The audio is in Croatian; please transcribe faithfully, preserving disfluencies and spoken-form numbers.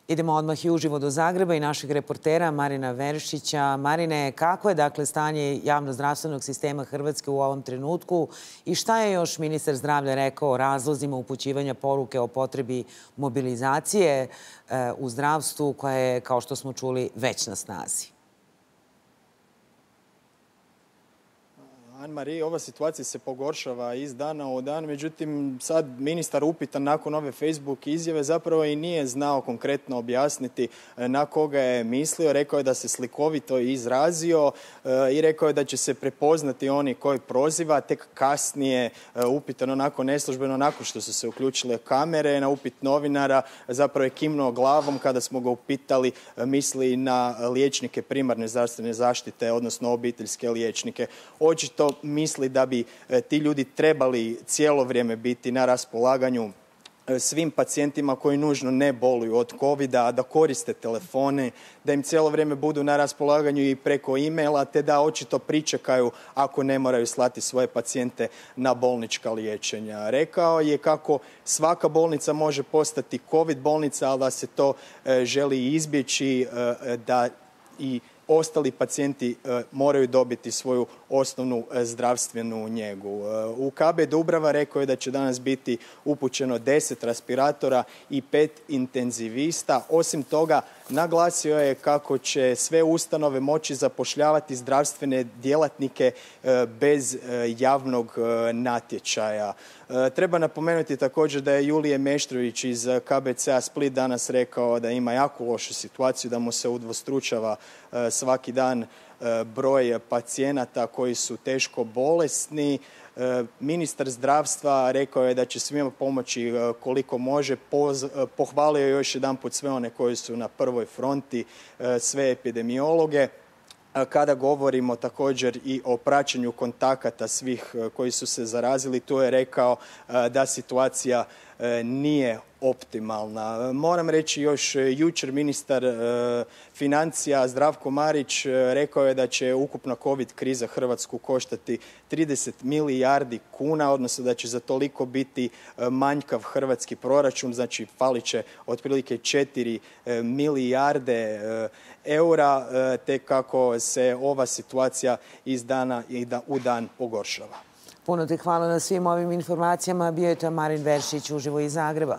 Idemo odmah i uživo do Zagreba i našeg reportera Marina Veršića. Marine, kako je dakle stanje javnozdravstvenog sistema Hrvatske u ovom trenutku i šta je još ministar zdravlja rekao o razlozima upućivanja poruke o potrebi mobilizacije u zdravstvu koja je, kao što smo čuli, već na snazi? Anne-Marie, ova situacija se pogoršava iz dana u dan, međutim sad ministar upitan nakon ove Facebook izjave zapravo i nije znao konkretno objasniti na koga je mislio. Rekao je da se slikovito izrazio i rekao je da će se prepoznati oni koji proziva. Tek kasnije, upitan onako neslužbeno, nakon što su se uključile kamere, na upit novinara zapravo je kimnuo glavom kada smo ga upitali misli na liječnike primarne zdravstvene zaštite, odnosno obiteljske liječnike. Očito misli da bi ti ljudi trebali cijelo vrijeme biti na raspolaganju svim pacijentima koji nužno ne boluju od covida, da koriste telefone, da im cijelo vrijeme budu na raspolaganju i preko e-maila, te da očito pričekaju ako ne moraju slati svoje pacijente na bolnička liječenja. Rekao je kako svaka bolnica može postati covid bolnica, ali da se to želi izbjeći, da i ostali pacijenti moraju dobiti svoju osnovnu zdravstvenu njegu. U K B Dubrava rekao je da će danas biti upućeno deset respiratora i pet intenzivista. Osim toga, naglasio je kako će sve ustanove moći zapošljavati zdravstvene djelatnike bez javnog natječaja. Treba napomenuti također da je Julije Meštrović iz K B C-a Split danas rekao da ima jako lošu situaciju, da mu se udvostručava svaki dan broj pacijenata koji su teško bolesni. Ministar zdravstva rekao je da će svima pomoći koliko može. Pohvalio je još jedanput sve one koji su na prvoj fronti, sve epidemiologe. Kada govorimo također i o praćenju kontakata svih koji su se zarazili, tu je rekao da situacija nije optimalna. Moram reći još jučer ministar financija Zdravko Marić rekao je da će ukupna covid kriza Hrvatsku koštati trideset milijardi kuna, odnosno da će za toliko biti manjkav hrvatski proračun, znači falit će otprilike četiri milijarde eura, te kako se ova situacija iz dana u dan pogoršava. Puno ti hvala na svim ovim informacijama. Bio je to Marin Veršić uživo iz Zagreba.